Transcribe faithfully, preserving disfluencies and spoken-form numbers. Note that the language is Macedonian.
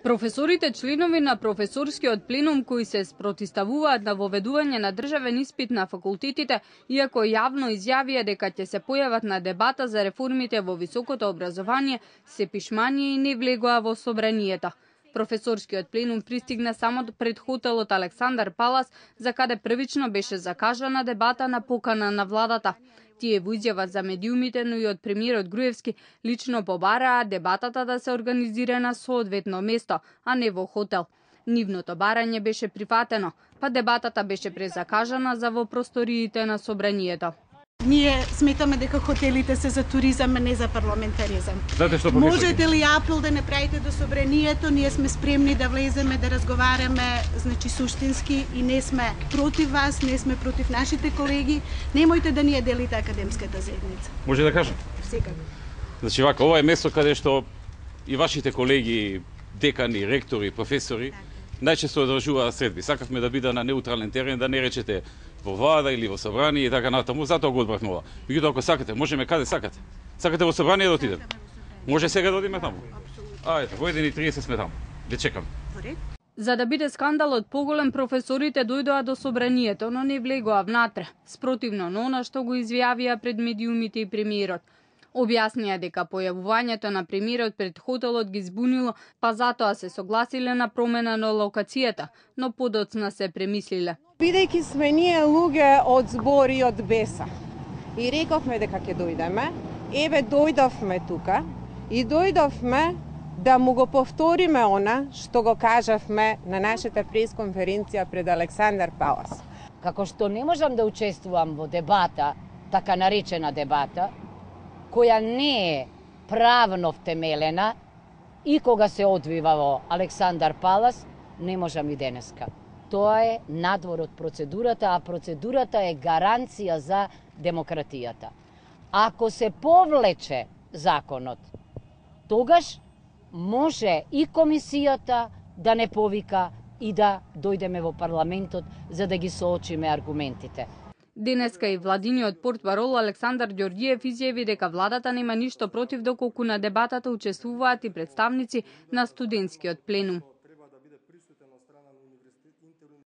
Професорите членови на професорскиот пленум кои се спротивставуваат на воведување на државен испит на факултетите, иако јавно изјавија дека ќе се појават на дебата за реформите во високото образование, се пишмани и не влегоа во собранието. Професорскиот пленум пристигна само пред хотелот Александар Палас, за каде првично беше закажана дебата на покана на владата. Тие во изјава за медиумите, но и од премиерот Груевски, лично побараа дебатата да се организира на соодветно место, а не во хотел. Нивното барање беше прифатено, па дебатата беше презакажана за во просториите на собранието. Ние сметаме дека хотелите се за туризам, а не за парламентаризам. Знаете што Можете ли апел да направите до собранието? Ние сме спремни да влеземе, да разговараме, значи суштински, и не сме против вас, не сме против нашите колеги. Немојте да ни ја делите академската заедница. Може да кажам? Секако. Значи вака, ова е место каде што и вашите колеги, декани, ректори, професори, најчесто одржуваат средби. Сакавме да биде на неутрален терен, да не речете во влада или во собрание и така натаму, затоа го одбравме ова. Меѓутоа, ако сакате, можеме каде сакате. Сакате во собрание да отидеме? Може сега да одиме таму? Ајде, во еден и триесет сме таму. Ве чекам. За да биде скандалот поголем, професорите дојдоа до собранието, но не влегоа внатре, спротивно на она што го изјавија пред медиумите и премиерот. Објаснија дека појавувањето на премиерот пред хотелот ги збунило, па затоа се согласиле на промена на локацијата, но подоцна се премислиле. Бидејќи сме ние луѓе од збор и од беса, и рековме дека ќе дојдеме, еве дојдовме тука и дојдовме да му го повториме она што го кажавме на нашата пресконференција пред Александар Палас. Како што не можам да учествувам во дебата, така наречена дебата, која не е правно втемелена и кога се одвива во Александар Палас, не можам и денеска. Тоа е надвор од процедурата, а процедурата е гаранција за демократијата. Ако се повлече законот, тогаш може и комисијата да не повика и да дојдеме во парламентот за да ги соочиме аргументите. Денеска и владиниот портпарол Александар Ѓорѓиев изјави дека владата нема ништо против доколку на дебатата учествуваат и представници на студентскиот пленум.